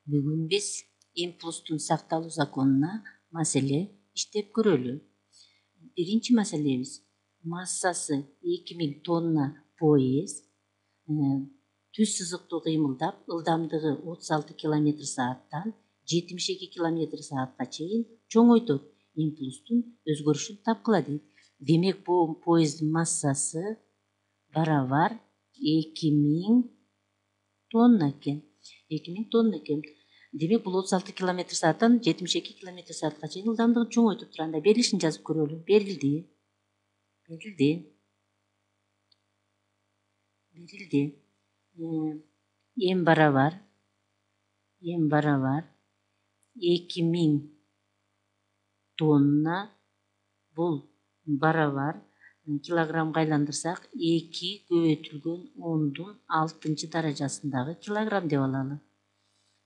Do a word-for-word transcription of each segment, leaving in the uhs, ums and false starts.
Бүгүн биз импульстун сакталуу законуна маселе иштеп көрөлү. Биринчи маселебиз массасы эки миң тонна поезд түз сызыктуу кыймылдап, ылдамдыгы отуз алты километр сааттан жетимиш эки километр саатка чейин чоңойтот, импульстун өзгөрүшүн тапкыла дейт. Демек, бул поезддин массасы барабар эки миң тонна экен. эки миң тонна экен. Демек, бул отуз алты километр сааттан жетимиш эки километр саатка чейин ылдамдыгын чоңойтуп турат. Анда берилишин жазып көрөлү. Берилди. Берилди. Берилди. Эм барабар. Эм барабар эки миң тонна. Бул барабар килограммга айландырсак эки көбөйтүлгөн ондун алтынчы даражасындагы килограмм деп алалы.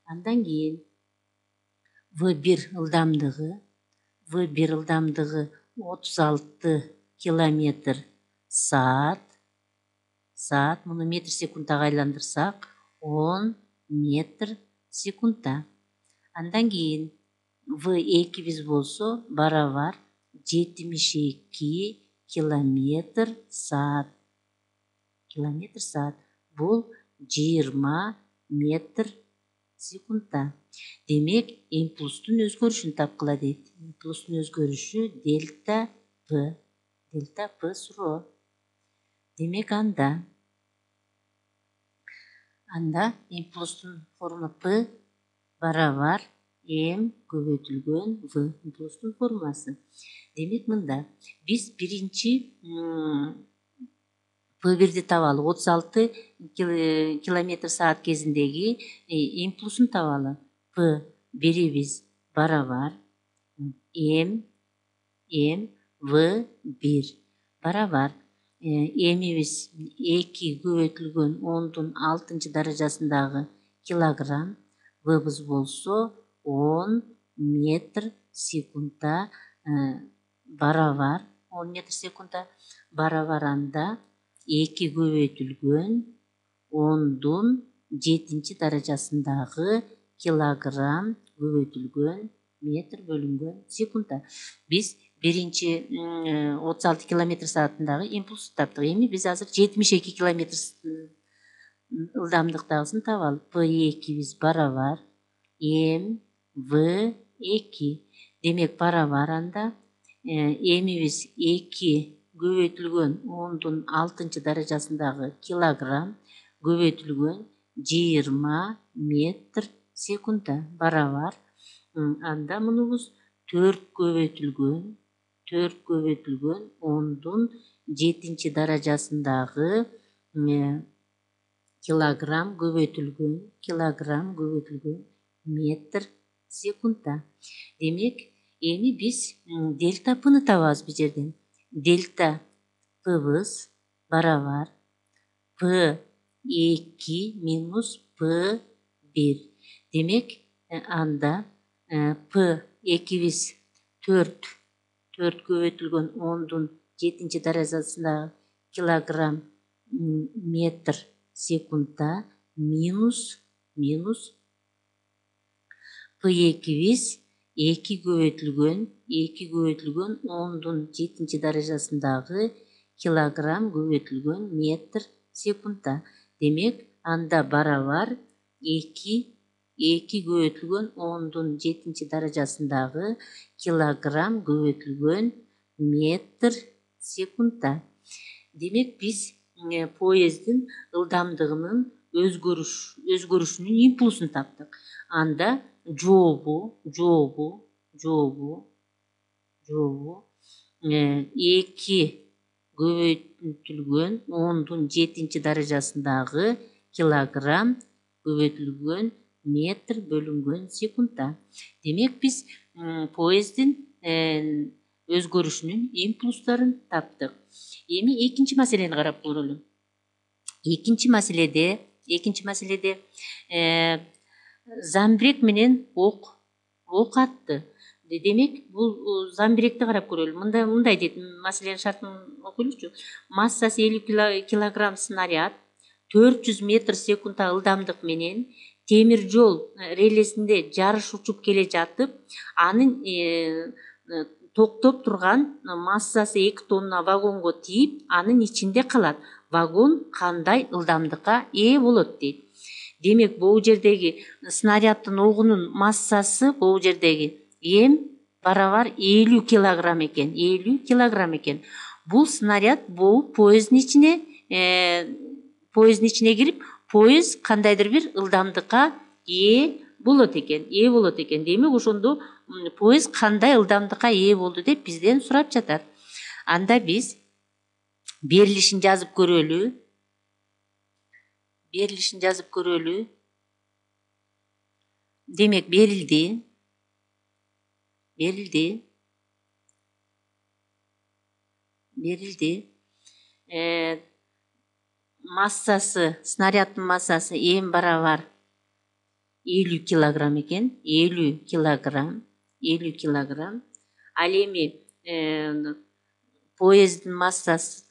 Андан кийин В бир ылдамдыгы, В бир ылдамдыгы отуз алты километр саат. Саат муну метр секундага айландырсак он метр секундта. Андан кийин В экибиз болсо барабар жетимиш эки километр саат. Километр саат. Бул жыйырма метр секундта. Демек, импульстун өзгөрүшүн тапкыла дейт. Импульстун өзгөрүшү дельта П. Дельта П суроо. Демек, анда анда импульстун формула П барабар М көбөйтүлгөн В. Импульстун формуласы. Демек, мында биз биринчи П бирди табалы. отуз алты километр саат кезиндеги импульсун табалы. П бирибиз барабар М М В бир барабар Мибиз эки көбөйтүлгөн ондун алтынчы даражасындагы килограмм, Вбыз болсо он метр секундта барабар он метр секундта барабар анда эки көбөйтүлгөн ондун жетинчи даражасындагы килограмм көбөйтүлгөн метр бөлүнгөн секундта. Биз биринчи отуз алты километр саатындагы импульсту таптык. Эми биз азыр жетимиш эки километр ылдамдыктагысын табалы. П экибиз барабар М В эки. Демек, барабар анда Мибиз эки көбөйтүлгөн ондун алтынчы даражасындагы килограмм көбөйтүлгөн жыйырма метр секундта барабар анда мунубуз төрт көбөйтүлгөн төрт көбөйтүлгөн ондун жетинчи даражасындагы килограмм көбөйтүлгөн килограмм көбөйтүлгөн метр секундта. Демек, эми биз дельта Пны табабыз бул жерден. Дельта Пбыз барабар П эки минус П бир. Демек, анда П экибиз төрт төрт көбөйтүлгөн ондун жетинчи даражасындагы килограмм метр секундта минус минус П экибиз эки көбөйтүлгөн эки көбөйтүлгөн ондун жетинчи даражасындагы килограмм көбөйтүлгөн метр секундта. Демек, анда барабар эки эки көбөйтүлгөн ондун жетинчи даражасындагы килограмм көбөйтүлгөн метр секундта. Демек, биз поезддин ылдамдыгынын өзгөрүш өзгөрүшүнүн импульсун таптык. Анда жообу жообу жообу жообу эки көбөйтүлгөн ондун жетинчи даражасындагы килограмм көбөйтүлгөн метр бөлүнгөн секундта. Демек, биз поезддин өзгөрүшүнүн импульстарын таптык. Эми экинчи маселени карап көрөлү. Экинчи маселеде экинчи маселеде замбирек менен ок ок атты. Демек, бул замбиректи карап көрөлү. Мында мындай дейт, маселенин шартын окуйлучу. Массасы элүү килограмм снаряд төрт жүз метр секундта ылдамдык менен темир жол релесинде жарыш учуп келе жатып, анын токтоп турган массасы эки тонна вагонго тийип, анын ичинде калат. Вагон кандай ылдамдыкка ээ болот дейт. Демек, бул жердеги снаряддын огунун массасы бул жердеги эм барабар элүү килограмм экен. элүү килограмм экен. Бул снаряд бул поезддин ичине, поезддин ичине кирип, поезд кандайдыр бир ылдамдыкка ээ болот экен, ээ болот экен. Демек, ошондо поезд кандай ылдамдыкка ээ болду деп бизден сурап жатат. Анда биз берилишин жазып көрөлү. Берилишин жазып көрөлү. Демек, берилди. Берилди. Берилди. Э, массасы, снаряддын массасы эм барабар элүү килограмм экен. элүү килограмм. элүү килограмм. Ал эми поезддин массасы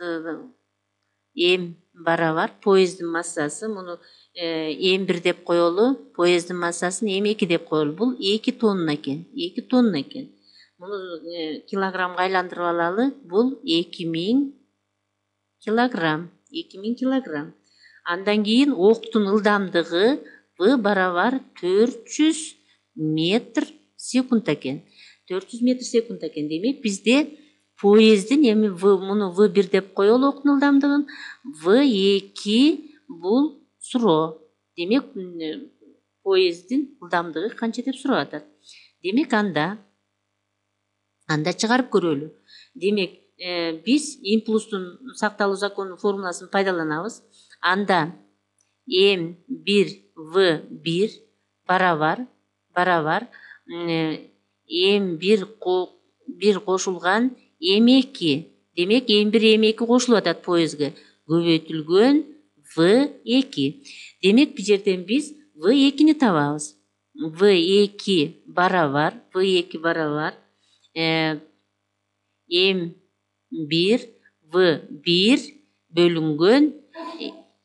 эм барабар, поезддин массасы, муну эм бир деп коелу, поезддин массасын эм эки деп коелу. Бул эки тонна экен. эки тонна экен. Муну килограммга айландырып алалы. Бул эки миң килограмм. эки миң килограмм. Андан кийин октун ылдамдыгы В барабар төрт жүз метр секунд экен. төрт жүз метр секунд экен. Демек, бизде поезддин эми В, муну В бир деп коелу октун ылдамдыгын. В эки бул суроо. Демек, поезддин ылдамдыгы канча деп сурап атат. Демек, анда анда чыгарып көрөлү. Демек, биз импульстун сакталуу законунун формуласын пайдаланабыз. Анда эм бир В бир барабар барабар эм бир бир кошулган эм эки. Демек, эм бир эм эки кошулуп атат поездге. Көбөйтүлгөн В эки. Демек, бул жерден биз В экини табабыз. В эки барабар В эки барабар эм бир В бир бөлүнгөн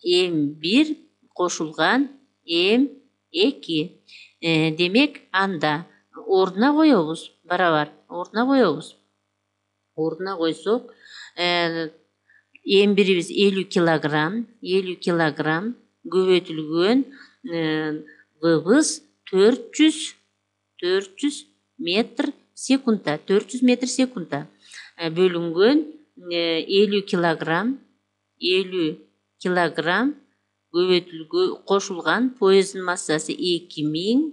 эм бир кошулган эм эки. Демек, анда ордуна коебуз. Барабар ордуна коебуз. Ордуна койсок, эм бирибиз элүү килограмм, элүү килограмм көбөйтүлгөн Вбыз төрт жүз төрт жүз метр секундта, төрт жүз метр секундта бөлүнгөн элүү килограмм, элүү килограмм көбөйтүлгөн кошулган поезддин массасы эки миң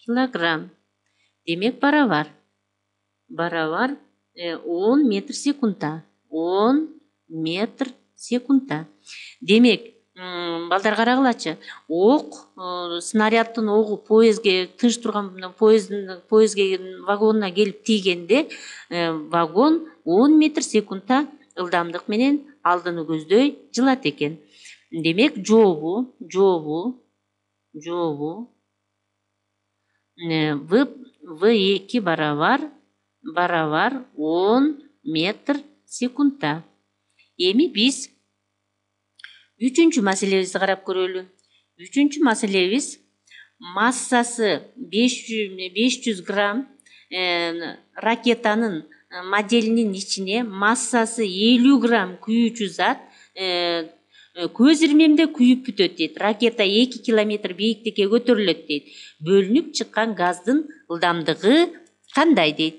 килограмм. Демек, барабар барабар он метр секундта. он метр секундта. Демек, балдар карагылачы. Ок, снаряддын огу поездге, тыныч турган поезддин поездге вагонуна келип тийгенде, вагон он метр секундта ылдамдык менен алдыны көздөй жылат экен. Демек, жообу, жообу, жообу В В эки барабар барабар он метр секундта. Эми биз үчүнчү маселебизди карап көрөлү. Үчүнчү маселебиз массасы беш жүз грамм ракетанын моделинин ичине массасы элүү грамм күйүүчү зат көз ирмемде күйүп бүтөт дейт. Ракета эки километр бийиктикке көтөрүлөт дейт. Бөлүнүп чыккан газдын ылдамдыгы кандай дейт.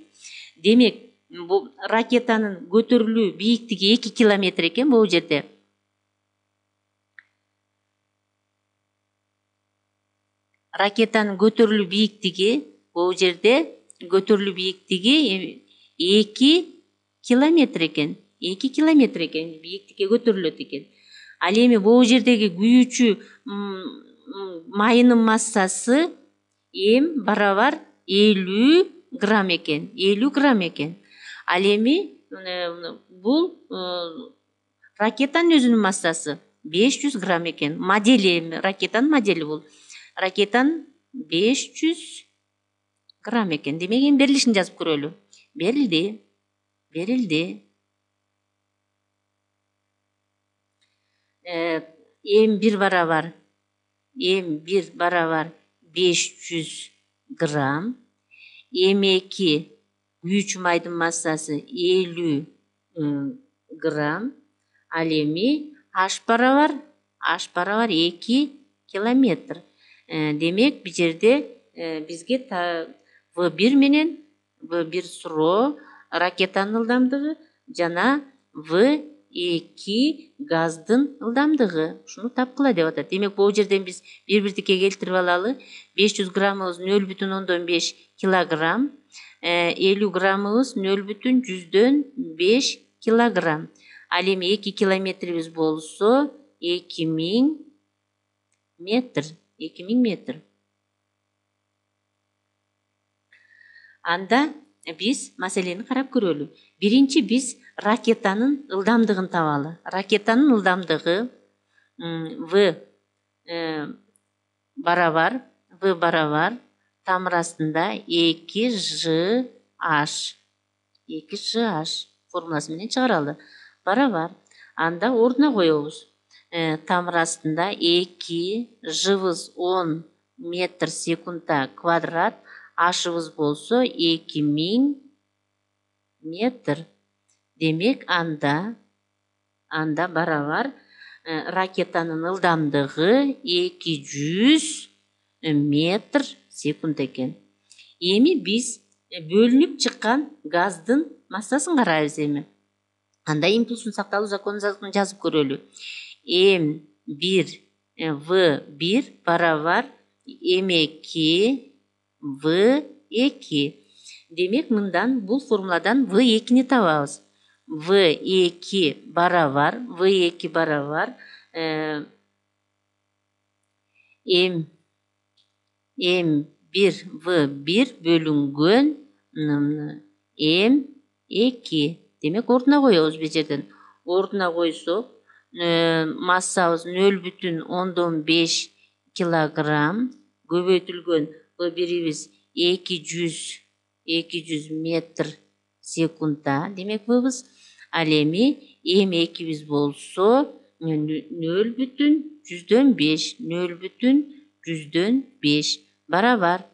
Демек, бул ракетанын көтөрүлүү бийиктиги эки километр экен бул жерде. Ракетанын көтөрүлүү бийиктиги бул жерде көтөрүлүү бийиктиги эки километр экен. эки километр экен, бийиктикке көтөрүлөт экен. Ал эми бул жердеги күйүүчү майынын массасы эм барабар элүү грамм экен. элүү грамм экен. Ал эми бул ракетанын өзүнүн массасы беш жүз грамм экен. Модели, ракетанын модели бул. Ракетанын беш жүз грамм экен. Демек, эми берилишин жазып көрөлү. Берилди. Берилди. эм бир барабар эм бир барабар беш жүз грамм, эм эки күйүүчү майдын массасы элүү грамм, ал эми H барабар H барабар эки километр. Демек, бул жерде бизге В бир менен В бир суроо ракетанын ылдамдыгы жана В эки газдын ылдамдыгы. Ушуну тапкыла деп атат. Демек, бул жерден биз бир бирдикке келтирип алалы. беш жүз граммыбыз нөл бүтүн ондон беш килограмм, элүү граммыбыз нөл бүтүн жүздөн беш килограмм. Ал эми эки километрибиз болсо эки миң метр. эки миң метр. Анда биз маселени карап көрөлү. Биринчи биз ракетанын ылдамдыгын табалы. Ракетанын ылдамдыгы В барабар В барабар тамыр астында эки ж H. эки ж H формуласы менен чыгаралы. Барабар. Анда ордуна коебуз. Тамыр астында эки жыбыз он метр секундта квадрат, H'ыбыз болсо эки миң метр. Демек, анда анда барабар ракетанын ылдамдыгы эки жүз метр секунд экен. Эми биз бөлүнүп чыккан газдын массасын карайбыз эми. Анда импульстун сакталуу законун жазып көрөлү. эм бир В бир барабар эм эки В эки. Демек, мындан бул формуладан В экини табабыз. В эки барабар В эки барабар эм эм бир В бир бөлүнгөн эм эки. Демек, ордуна коебуз бул жерден. Ордуна койсок, массабыз нөл бүтүн ондон беш килограмм, көбөйтүлгөн В бирибиз эки жүз метр секундта. Демек, В'быз. Ал эми эм экибиз болсо нөл бүтүн жүздөн беш, нөл бүтүн жүздөн беш барабар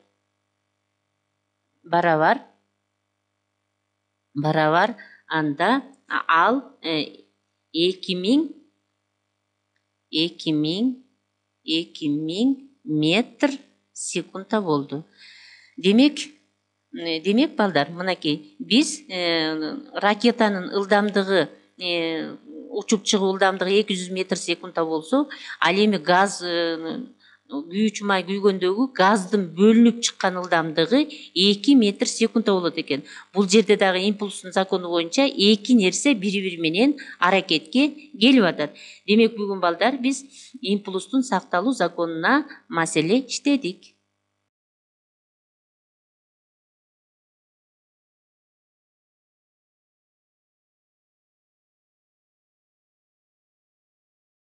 барабар барабар анда ал эки миң эки миң эки миң метр секундта болду. Демек, демек балдар, мынакей биз ракетанын ылдамдыгы учуп чыгуу ылдамдыгы эки жүз метр секундта болсо, ал эми газ күйүүчү май күйгөндөгү газдын бөлүнүп чыккан ылдамдыгы эки метр секундта болот экен. Бул жерде дагы импульстун закону боюнча эки нерсе бири бири менен аракетке келип атат. Демек, бүгүн балдар биз импульстун сакталуу законуна маселе иштедик.